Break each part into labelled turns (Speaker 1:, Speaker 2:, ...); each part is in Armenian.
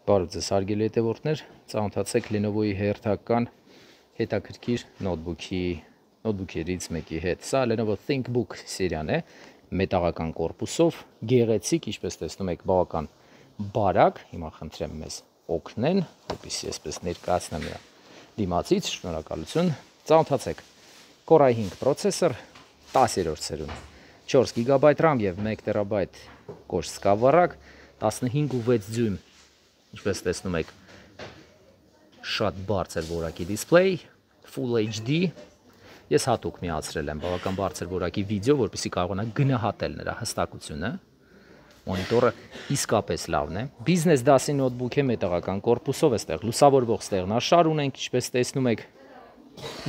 Speaker 1: Բարև ձեզ հարգելի հետևորդներ, ծանոթացեք Lenovo-ի հերթական հետաքրքիր նոթբուքերից մեկի հետ։ Սա Lenovo ThinkBook սերիան է, մետաղական կորպուսով, գեղեցիկ, ինչպես տեսնում եք, բավական բարակ։ Հիմա խնդրեմ մեզ օգնեն, որպեսզի այսպես ներկայացնեմ նրա դիմացից, շնորհակալություն։ Ծանոթացեք, Core i5 պրոցեսոր, 10-րդ սերունդ, 4 GB RAM եւ 1 TB կոշտ սկավառակ, 15.6 դյույմ, ինչպես տեսնում եք, շատ բարձր որակի դիսպլեյ, Full HD, ես հատուկ միացրել եմ բավական բարձր որակի վիդեո, որպեսզի կարողանաք գնահատել նրա հստակությունը, մոնիտորը իսկապես լավն է, բիզնես դասի նոթբուք է, մետաղական կորպուսով, այստեղ լուսավորվող ստեղնաշար ունենք, ինչպես տեսնում եք,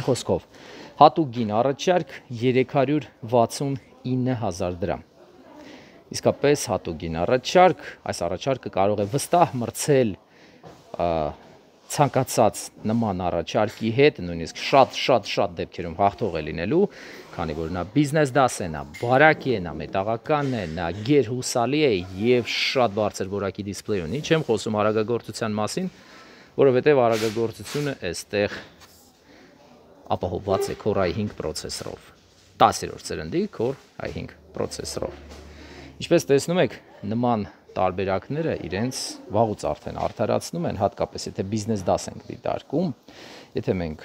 Speaker 1: խոսքով, հատուկ գին առաջարկ 369.000 դրամ, իսկապես հատուկ գին առաջարկ, այս առաջարկը կարող է վստահ մրցել ցանկացած նման առաջարկի հետ, նույնիսկ շատ դեպքերում հաղթող է լինելու, քանի որ նա բիզնես դաս է, նա բարակ է, նա մետաղական է, նա գերհուսալի է եւ շատ բարձր որակի դիսպլեյ ունի, չեմ խոսում արագագործության մասին, որովհետեւ արագագործությունը այստեղ ապահովված է Core i5 պրոցեսորով, 10-րդ սերնդի Core i5 պրոցեսորով։ Ինչպես տեսնում եք, նման տարբերակները իրենց վաղուց արդեն արդարացնում են, հատկապես եթե բիզնես դաս ենք դիտարկում, եթե մենք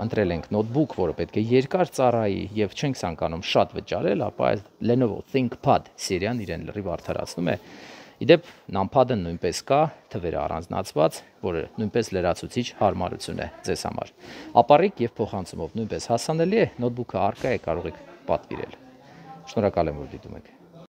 Speaker 1: ընտրել ենք նոթբուք, որը պետք է երկար ծառայի եւ չենք ցանկանում շատ վճարել, ապա այս Lenovo ThinkPad սերիան իրեն լրիվ արդարացնում է։ Իդեպ NumPad-ը նույնպես կա, թվերը առանձնացված, որը նույնպես լրացուցիչ հարմարություն է ձեզ համար։ Ապառիկ եւ փոխանցումով նույնպես հասանելի է, նոթբուքը առկա է, կարող եք պատվիրել։ Շնորհակալ եմ, որ դիտում եք։